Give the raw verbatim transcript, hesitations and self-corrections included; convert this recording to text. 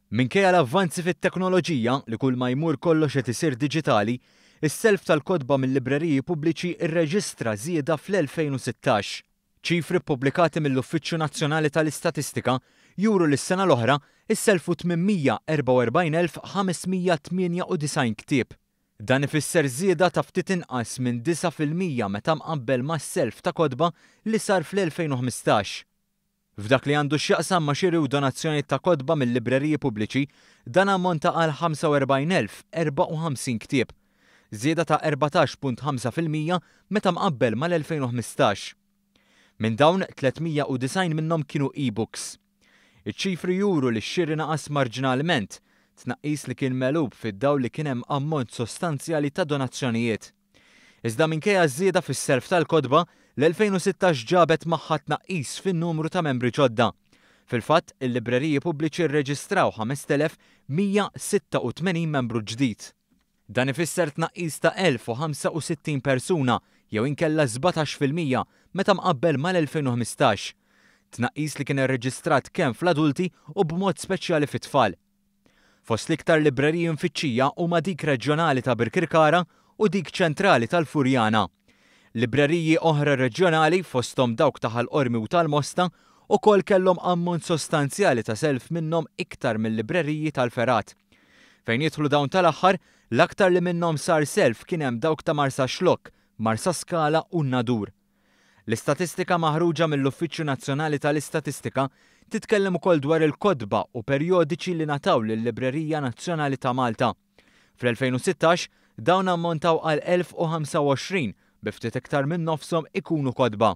Minkejja l-avvanzi fit-teknoloġija li kull ma jmur kollox qed isir diġitali, is-self tal-kotba mill-libreriji pubbliċi rreġistra żieda fl-elfejn u sittax. Ċifri ppubblikati mill-Uffiċċju Nazzjonali tal-Istatistika juru li s-sena l-oħra isselfu tmien mija erbgħa u erbgħin elf ħames mija tmienja u disgħin ktieb. Dan ifisser żieda ta' ftit inqas minn disa' fil-mija meta mqabbel mas-self ta' kotba li sar fl-elfejn u ħmistax. F'dak li għandu x'jaqsam ma' xiri u donazzjoni ta' kotba mill-libreriji pubbliċi, dan ammonta għal ħamsa u erbgħin elf erbgħa u ħamsin ktieb. Żieda ta' erbatax punt ħamsa fil-mija meta mqabbel mal-elfejn u ħmistax. Minn dawn, tliet mija u disgħin minnhom kienu e-books. Iċ-ċifri juru li x-xiri naqas marġinalment, tnaqqis li kien megħlub fid-dawl li kien hemm ammont sostanzjali ta' donazzjonijiet. Iżda minkejja żieda fis-self tal-kotba, l-elfejn u sittax ġabet magħha tnaqqis fin-numru ta' membri ġodda. Fil-fatt, il-libreriji pubbliċi rreġistraw ħamest elef mija sitta u tmenin membru ġdid. Dan ifisser tnaqqis ta' elf u ħamsa u sittin persuna jew inkella sbatax fil-mija meta mqabbel mal-elfejn u ħmistax. Tnaqqis li kien irreġistrat kemm fl-adulti u b'mod speċjali fit-tfal. Fost l-iktar libreriji mfittxija huma dik reġjonali ta' Birkirkara u dik ċentrali tal-Furjana. Libreriji oħra reġjonali fosthom dawk ta' Ħal Qormi u tal-Mosta ukoll kellhom ammont sostanzjali ta' self minnhom iktar mill-libreriji tal-Fergħat. Fejn jidħlu dawn tal-aħħar, l-aktar li minnhom sar self kien hemm dawk ta' Marsaxlokk, Marsaskala u Nadur. L-istatistika maħruġa mill-Uffiċċju Nazzjonali tal-Istatistika titkellem ukoll dwar il-kotba u perjodiċi li nataw lill-Librerija Nazzjonali ta' Malta. Fl-elfejn u sittax, dawn ammontaw għal elf u ħamsa u għoxrin bi ftit iktar minn nofshom ikunu kotba.